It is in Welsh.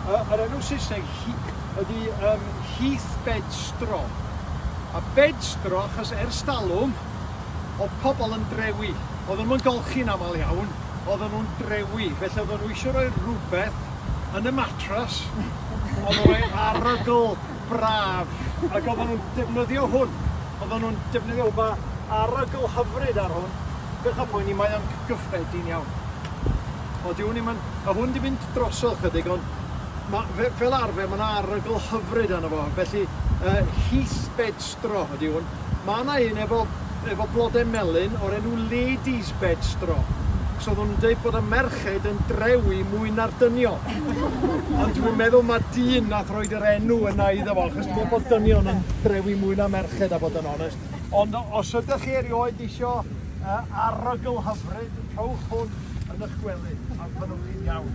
Yr enw Saesneg ydy Heath Bedstraw. A bedstraw, achos ers talwm, oedd pobl yn drewi. Oedden nhw'n golchi'n aml iawn, oedden nhw'n drewi. Felly oedden nhw eisiau rhoi rhywbeth yn y matras, oedd yn rhoi arogl braf. Ac oedden nhw'n defnyddio hwn. Oedden nhw'n defnyddio hwn. Mae arogl hyfryd ar hwn. Peidiwch â poeni, mae o'n gyffredin iawn. O, di hwn ddim yn... Mae hwn di mynd drosodd chydig, ond ma, fe, fel arfer mae yna arogl hyfryd arno fo. Felly, Heath Bedstraw ydy hwn. Mae yna un efo blodau melyn o'r enw Ladies Bedstraw. So oedden nhw'n dweud bod y merched yn drewi mwy na'r dynion. Ond dwi'n meddwl mae dyn nath roed yr enw yna iddo fo, achos dwi'n meddwl bod dynion yn drewi mwy na merched, a bod yn onest. Ond os ydych chi erioed isio arogl hyfryd, rhowch hwn yn eich gwely a byddwch chi'n iawn.